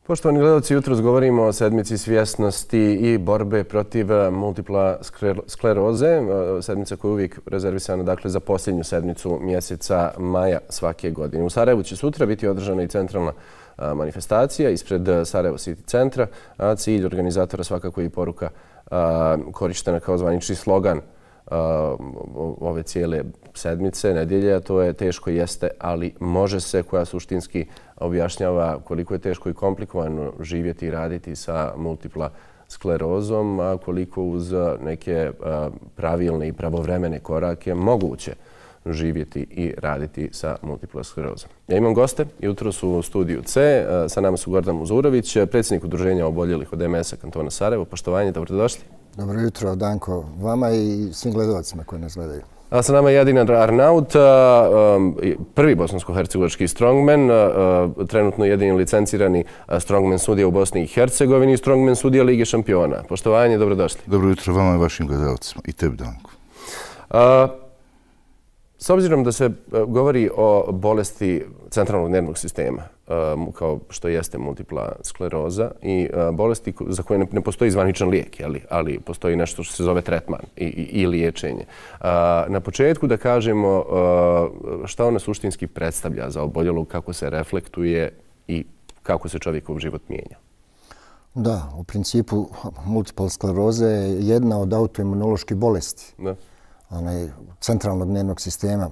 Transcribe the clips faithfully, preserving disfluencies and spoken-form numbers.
Poštovani gledalci, jutros govorimo o sedmici svjesnosti i borbe protiv multipla skleroze. Sedmica koja je uvijek rezervisana dakle, za posljednju sedmicu mjeseca maja svake godine. U Sarajevu će sutra biti održana i centralna manifestacija ispred Sarajevo City centra. A cilj organizatora svakako i poruka korištena kao zvanični slogan ove cijele sedmice, nedjelje, a to je teško jeste, ali može se, koja suštinski objašnjava koliko je teško i komplikovano živjeti i raditi sa multipla sklerozom, a koliko uz neke pravilne i pravovremene korake moguće živjeti i raditi sa multipla sklerozom. Ja imam goste, jutro su u studiju C, sa nama su Gordan Muzurović, predsjednik Udruženja oboljelih od M S-a kantona Sarajevo. Poštovanje, dobrodošli. Dobro jutro, Danko, vama i svim gledalcima koji nas gledaju. A sa nama je Jadina Arnaut, prvi bosansko-hercegovački strongman, trenutno jedini licencirani strongman sudija u Bosni i Hercegovini i strongman sudija Lige šampiona. Poštovanje, dobrodošli. Dobro jutro vama i vašim gledalcima i tebi, Danko. S obzirom da se govori o bolesti centralnog nervnog sistema, kao što jeste multipla skleroza i bolesti za koje ne postoji zvaničan lijek, ali postoji nešto što se zove tretman i liječenje. Na početku da kažemo šta ona suštinski predstavlja za oboljelog, kako se reflektuje i kako se čovjekov život mijenja. Da, u principu multipla skleroza je jedna od autoimunoloških bolesti. Da. Onaj, centralnog nervnog sistema,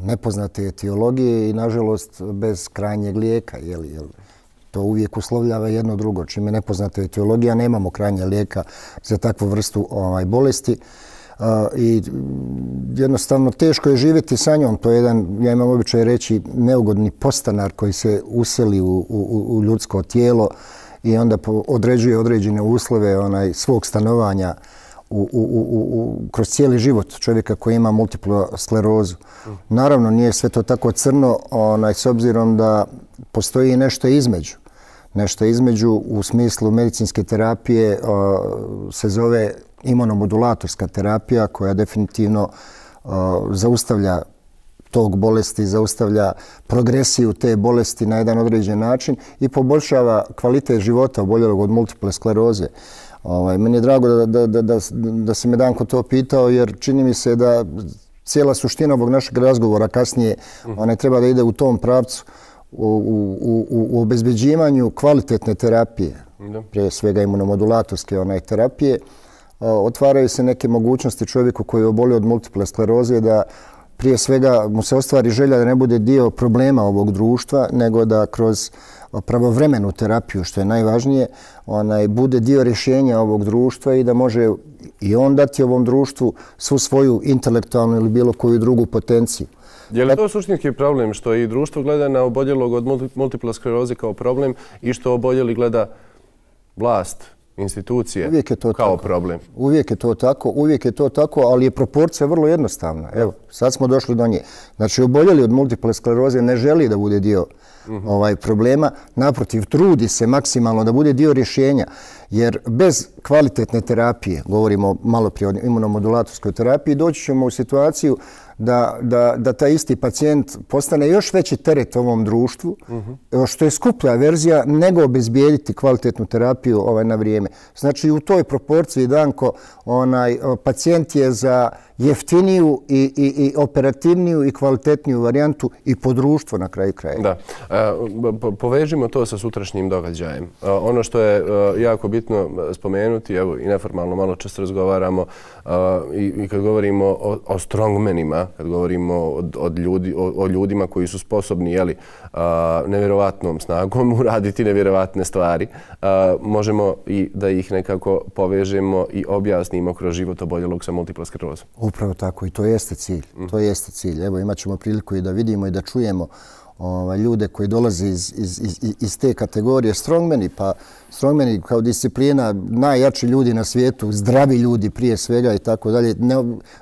nepoznate etiologije i, nažalost, bez krajnjeg lijeka. Jel, jel, to uvijek uslovljava jedno drugo. Čim je nepoznata etiologija, nemamo krajnje lijeka za takvu vrstu ovaj, bolesti. Uh, I jednostavno teško je živjeti sa njom. To je jedan, ja imam običaj reći, neugodni postanar koji se useli u, u, u ljudsko tijelo i onda određuje određene uslove onaj, svog stanovanja U, u, u, u, kroz cijeli život čovjeka koji ima multiplu sklerozu. Naravno, nije sve to tako crno, onaj, s obzirom da postoji nešto između. Nešto između u smislu medicinske terapije o, se zove imunomodulatorska terapija koja definitivno o, zaustavlja tog bolesti, zaustavlja progresiju te bolesti na jedan određen način i poboljšava kvalitet života oboljelog od multiple skleroze. Ovaj, meni je drago da, da, da, da, da si me Danko to pitao, jer čini mi se da cijela suština ovog našeg razgovora kasnije ona treba da ide u tom pravcu u, u, u, u obezbeđivanju kvalitetne terapije, da. Prije svega imunomodulatorske onaj, terapije. O, otvaraju se neke mogućnosti čovjeku koji je obolio od multiple skleroze da prije svega mu se ostvari želja da ne bude dio problema ovog društva, nego da kroz pravovremenu terapiju, što je najvažnije, onaj, bude dio rješenja ovog društva i da može i on dati ovom društvu svu svoju intelektualnu ili bilo koju drugu potenciju. Je li to suštinski problem što i društvo gleda na oboljelog od multipla skleroze kao problem i što oboljeli gleda vlast, institucije uvijek je to kao tako. problem? Uvijek je to tako, uvijek je to tako, ali je proporcija vrlo jednostavna. Evo, sad smo došli do nje. Znači, oboljeli od multiple skleroze ne želi da bude dio mm-hmm. ovaj, problema. Naprotiv, trudi se maksimalno da bude dio rješenja, jer bez kvalitetne terapije, govorimo malo prije o imunomodulatorskoj terapiji, doći ćemo u situaciju da, da, da taj isti pacijent postane još veći teret ovom društvu, mm-hmm. što je skuplja verzija nego obezbijediti kvalitetnu terapiju ovaj, na vrijeme. Znači, u toj proporciji, Danko, onaj, pacijent je za jeftiniju i, i, i operativniju i kvalitetniju varijantu i po društvo na kraju kraja. Da. E, povežimo to sa sutrašnjim događajem. E, ono što je e, jako bitno spomenuti, evo i neformalno malo često razgovaramo e, i, i kad govorimo o, o strongmenima, kad govorimo od, od ljudi, o, o ljudima koji su sposobni jeli, a, nevjerovatnom snagom uraditi nevjerovatne stvari, a, možemo i da ih nekako povežemo i objasnimo kroz život oboljelog sa multipla sklerozom. Upravo tako i to jeste cilj. Mm. To jeste cilj. Evo, imat ćemo priliku i da vidimo i da čujemo ovaj, ljude koji dolaze iz, iz, iz, iz te kategorije strongmeni, pa strongmeni kao disciplina, najjači ljudi na svijetu, zdravi ljudi prije svega i tako dalje, ne,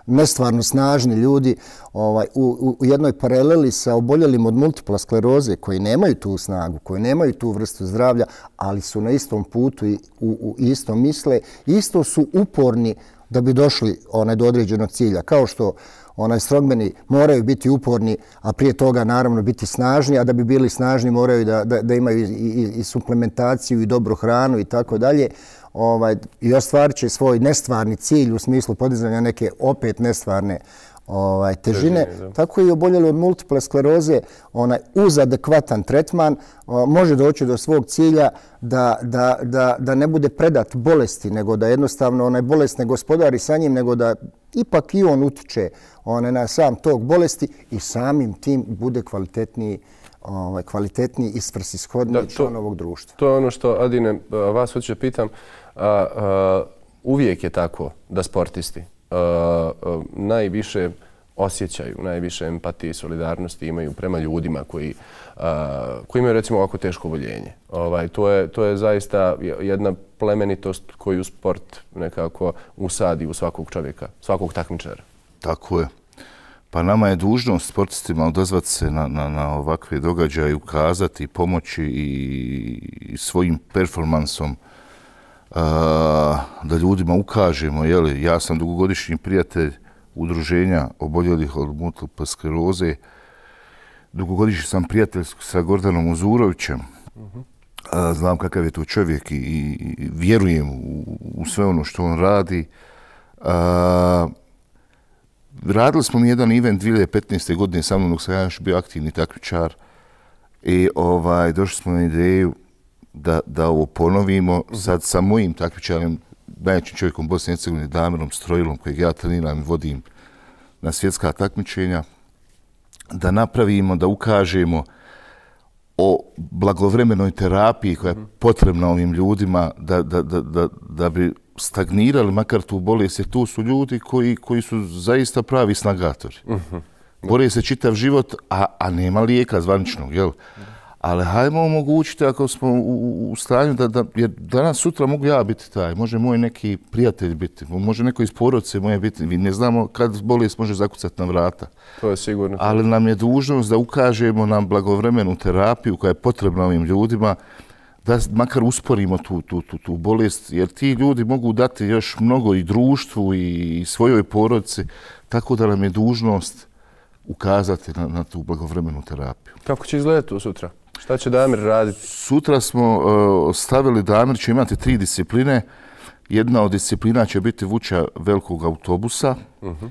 nestvarno snažni ljudi ovaj, u, u jednoj paraleli sa oboljelim od multipla skleroze koji nemaju tu snagu, koji nemaju tu vrstu zdravlja, ali su na istom putu i u, u istom misle, isto su uporni da bi došli onaj do određenog cilja. Kao što onaj strongmeni moraju biti uporni, a prije toga naravno biti snažni, a da bi bili snažni moraju da, da, da imaju i, i, i suplementaciju i dobru hranu i tako dalje. Ovaj, i ostvarit će svoj nestvarni cilj u smislu podizanja neke opet nestvarne ovaj, težine. Težine, tako i oboljeli od multiple skleroze onaj, uz adekvatan tretman o, može doći do svog cilja da, da, da, da ne bude predat bolesti, nego da jednostavno onaj bolest ne gospodari sa njim, nego da ipak i on utiče onaj, na sam tog bolesti i samim tim bude kvalitetniji ovaj, kvalitetniji i svrsishodniji član ovog društva. To je ono što, Adine, vas hoću pitam. A, a, uvijek je tako da sportisti a, a, najviše osjećaju, najviše empatije i solidarnosti imaju prema ljudima koji, a, koji imaju recimo ovako teško oboljenje. Ovaj, to, je, to je zaista jedna plemenitost koju sport nekako usadi u svakog čovjeka, svakog takmičara. Tako je. Pa nama je dužnost sportistima odazvati se na, na, na ovakve događaje, ukazati, pomoći i, i svojim performansom Uh, da ljudima ukažemo. Jeli, ja sam dugogodišnji prijatelj udruženja oboljelih od multiple skleroze. Dugogodišnji sam prijatelj sa Gordanom Uzurovićem. Uh-huh. uh, znam kakav je to čovjek i, i vjerujem u, u sve ono što on radi. Uh, radili smo mi jedan event dvije hiljade petnaeste. godine sa mnom dok sam ja još bio aktivni takmičar i ovaj, došli smo na ideju Da, da ovo ponovimo sad sa mojim takmičarem, najjačim čovjekom Bosne i Hercegovine, Damirom Strojilom, kojeg ja treniram i vodim na svjetska takmičenja, da napravimo, da ukažemo o blagovremenoj terapiji koja je potrebna ovim ljudima da, da, da, da, da bi stagnirali makar tu bolest, jer tu su ljudi koji, koji su zaista pravi snagatori. Bore se čitav život, a, a nema lijeka zvaničnog, jel? Ali hajmo omogućiti ako smo u, u stanju da, da, jer danas sutra mogu ja biti taj, može moj neki prijatelj biti, može neko iz porodice moje biti, mi ne znamo kad bolest može zakucati na vrata. To je sigurno. Ali nam je dužnost da ukažemo nam blagovremenu terapiju koja je potrebna ovim ljudima, da makar usporimo tu, tu, tu, tu bolest, jer ti ljudi mogu dati još mnogo i društvu i svojoj porodici, tako da nam je dužnost ukazati na, na tu blagovremenu terapiju. Kako će izgledati to sutra? Šta će Damir raditi? Sutra smo uh, stavili, Damir će imati tri discipline. Jedna od disciplina će biti vuča velikog autobusa, uh-huh.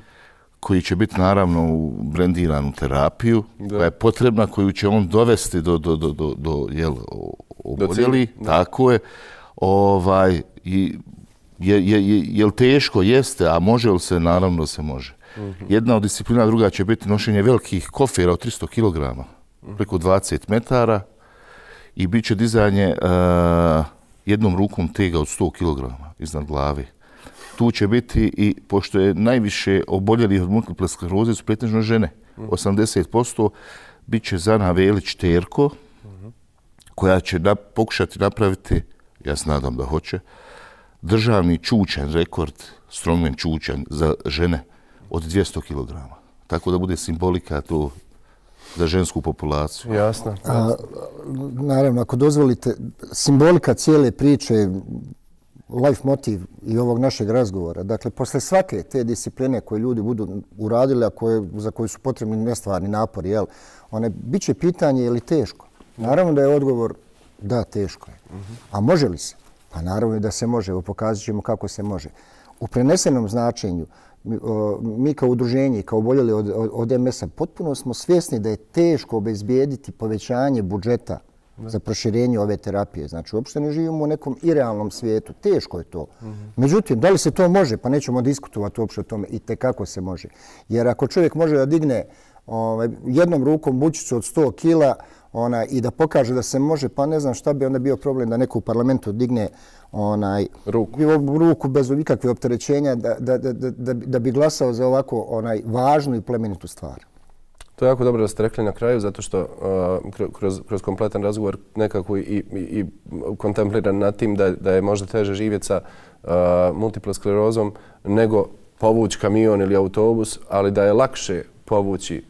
koji će biti naravno u brendiranu terapiju, da. koja je potrebna, koju će on dovesti do, do, do, do, do jel, oboljeli. Tako je. Ovaj, i, je, je, je, je li teško? Jeste, a može li se? Naravno se može. Uh-huh. Jedna od disciplina, druga će biti nošenje velikih kofera od tristo kilograma. Preko dvadeset metara i bit će dizanje uh, jednom rukom tega od sto kilograma iznad glave. Tu će biti i, pošto je najviše oboljelih od multiple skleroze su pretežno žene, osamdeset posto, bit će Zana Velić Terko, koja će da, pokušati napraviti, ja se nadam da hoće, državni čučan rekord, strongman čučan za žene od dvjesto kilograma. Tako da bude simbolika to za žensku populaciju. Jasno. A, naravno, ako dozvolite, simbolika cijele priče, life motiv i ovog našeg razgovora, dakle, posle svake te discipline koje ljudi budu uradili, a koje, za koje su potrebni nestvarni napori, jel, one, bit će pitanje je li teško. Naravno da je odgovor da, teško je. A može li se? Pa naravno da se može. Evo, pokazat ćemo kako se može. U prenesenom značenju, mi kao udruženje i kao oboljeli od, od, od em es a potpuno smo svjesni da je teško obezbijediti povećanje budžeta ne. za proširenje ove terapije. Znači, uopšte ne živimo u nekom irealnom svijetu. Teško je to. Mm-hmm. Međutim, da li se to može? Pa nećemo diskutovati uopšte o tome i tekako se može. Jer ako čovjek može da digne ovaj, jednom rukom bučicu od sto kila ona, i da pokaže da se može, pa ne znam šta bi onda bio problem da neko u parlamentu digne onaj ruku, ruku bez ikakve opterećenja da, da, da, da, da bi glasao za ovako onaj važnu i plemenitu stvar. To je jako dobro da ste rekli na kraju, zato što uh, kroz, kroz kompletan razgovor nekako i, i, i kontempliran nad tim da, da je možda teže živjeti sa uh, multiple sklerozom nego povući kamion ili autobus, ali da je lakše povući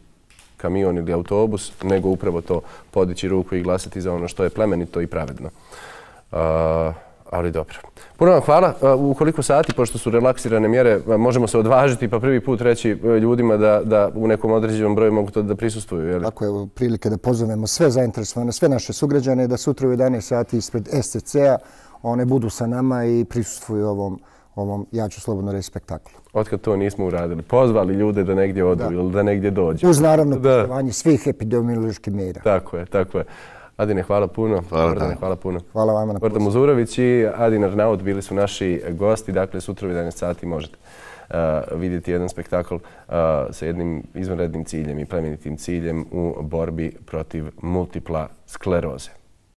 kamion ili autobus nego upravo to podići ruku i glasati za ono što je plemenito i pravedno. Uh, Ali dobro. Puno vam hvala. U koliko sati, pošto su relaksirane mjere, možemo se odvažiti pa prvi put reći ljudima da, da u nekom određenom broju mogu to da prisustvuju? Je li? Tako je prilike da pozovemo sve zainteresovane, sve naše sugrađane da sutra u jedanaest sati ispred S C C-a one budu sa nama i prisustvuju ovom, ovom, ja ću slobodno reći, spektaklu. Otkad to nismo uradili? Pozvali ljude da negdje odu da. ili da negdje dođu? Uz naravno poštovanje svih epidemioloških mjera. Tako je, tako je. Adine, hvala puno. Hvala, Gordane, hvala puno. Hvala vama na pozivu. Gordon Muzurović i Adin Arnaut bili su naši gosti. Dakle, sutra u jedanaest sati možete uh, vidjeti jedan spektakl uh, sa jednim izvanrednim ciljem i plemenitim ciljem u borbi protiv multipla skleroze.